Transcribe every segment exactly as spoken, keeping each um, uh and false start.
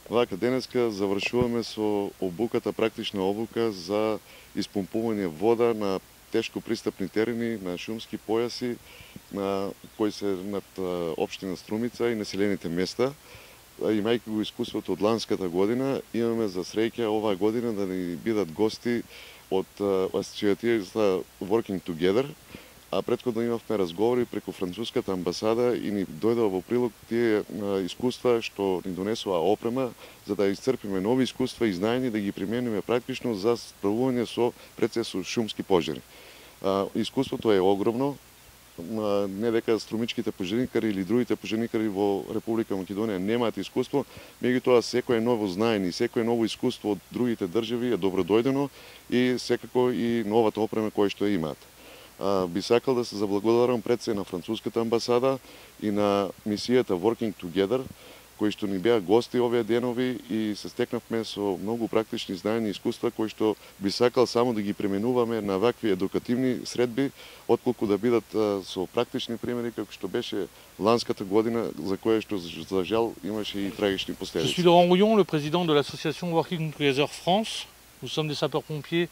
Вака, денеска завршуваме со обуката, практична обука за испумпување вода на тешко пристапни терени, на шумски појаси, на кои се над општина Струмица и населените места. Имајќи го искуството од ланската година, имаме за среќа оваа година да ни бидат гости од асоциацијата Working Together, а претходно имавме разговори преку француската амбасада и ни дојдоа во прилог тие искуства што ни донесува опрема за да исцрпиме нови искуства и знаења да ги примениме практично за справување со пред се со шумски пожари. Искуството е огромно. Не дека струмичките пожарникари или другите пожарникари во Република Македонија немаат искуство, меѓутоа секое ново знаење и секое ново искуство од другите држави е добродојдено и секако и новата опрема која што имаат. Би сакал да се заблагодарам пред се на француската амбасада и на мисијата Working Together, кои што ни беа гости овие денови и се стекнавме со многу практични знаења и искуства кои што би сакал само да ги пременуваме на вакви едукативни средби, отколку да бидат со практични примери како што беше ланската година, за која што за жал имаше и трагични последици. Je suis Laurent Rouillon, le président de l'association Working Together France. Nous sommes des sapeurs-pompiers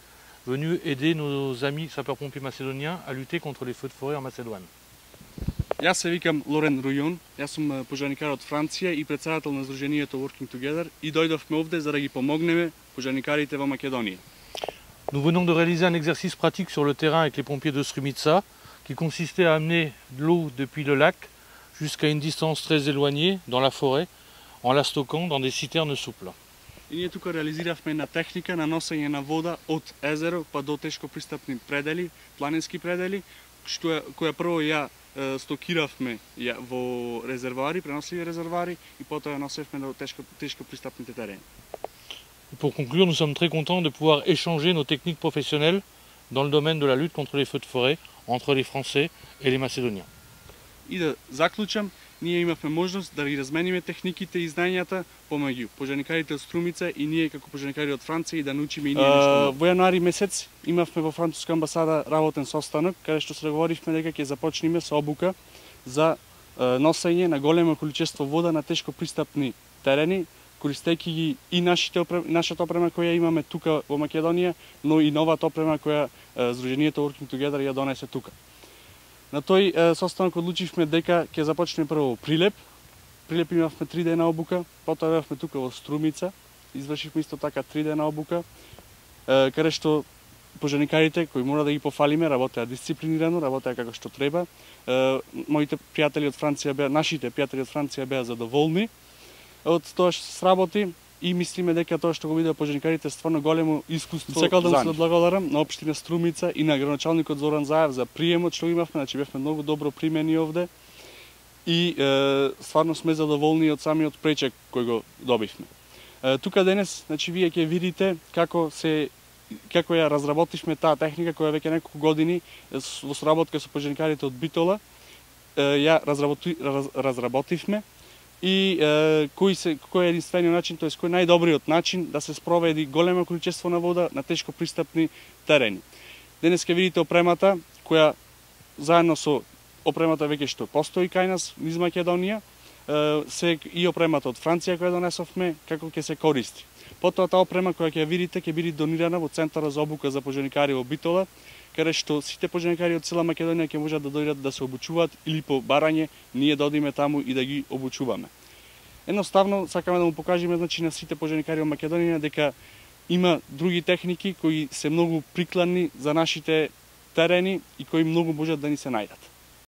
venus aider nos amis sapeurs-pompiers macédoniens à lutter contre les feux de forêt en Macédoine. Јас се викам Лорен Рујон, јас сум пожарникар од Франција и председател на Сдруженијето Working Together и дојдовме овде за да ги помогнеме пожарникарите во Македонија. Nous venons de réaliser un exercice pratique sur le terrain avec les pompiers de Strumica qui consistait à amener de l'eau depuis le lac jusqu'à une distance très éloignée dans la forêt en la stockant dans des citernes souples. И ние тука реализиравме една техника на носење на вода од езеро па до тешко пристапни предели, планински предели, што која прво ја стокиравме ја во резервоари, преносливи резервоари и потоа ја носевме до тешко, тешко пристапните терени. Pour conclure, nous sommes très contents de pouvoir échanger nos techniques professionnelles dans le domaine de la lutte contre les feux de forêt entre les Français et les Macédoniens. И да заклучам, ние имавме можност да ги размениме техниките и знањата помеѓу пожарникарите од Струмица и ние како пожарникари од Франција и да научиме и ние нешто. Во јануари месец имавме во француска амбасада работен состанок каде што се договоривме дека ќе започнеме со обука за носење на големо количество вода на тешко пристапни терени, користејќи ги и нашите нашата опрема која имаме тука во Македонија, но и новата опрема која Сдруженијето Working Together ја донесе тука. На тој е, состанок одлучивме дека ќе започнеме прво Прилеп. Прилеп имавме три дена обука, потоа бевме тука во Струмица, извршивме исто така три дена обука, е, каде што пожарникарите кои мора да ги пофалиме работеа дисциплинирано, работеа како што треба. Е, моите пријатели од Франција беа, нашите пријатели од Франција беа задоволни од тоа што се сработи. И мислиме дека тоа што го видеа пожарникарите стварно големо искуство. Сакал да се благодарам на општина Струмица и на градоначалникот Зоран Заев за приемот што имавме, значи бевме многу добро примени овде и е, стварно сме задоволни од самиот пречек кој го добивме. Е, тука денес, значи вие ќе видите како се како ја разработивме таа техника која веќе неколку години во соработка со пожарникарите од Битола е, ја разработи, раз, разработивме. И е, кој, се, кој е единствениот начин, тоест кој е најдобриот начин да се спроведи големо количество на вода на тешко пристапни терени. Денес ќе видите опремата која заедно со опремата веќе што постои кај нас низ Македонија, е, се и опремата од Франција која донесовме како ќе се користи. Потоа таа опрема која ќе видите ќе биде донирана во Центарот за обука за пожарникари во Битола, каде што сите пожарникари од цела Македонија ќе можат да дојдат да се обучуваат или по барање ние да одиме таму и да ги обучуваме. Едноставно сакаме да му покажеме значи на сите пожарникари од Македонија дека има други техники кои се многу прикладни за нашите терени и кои многу можат да ни се најдат.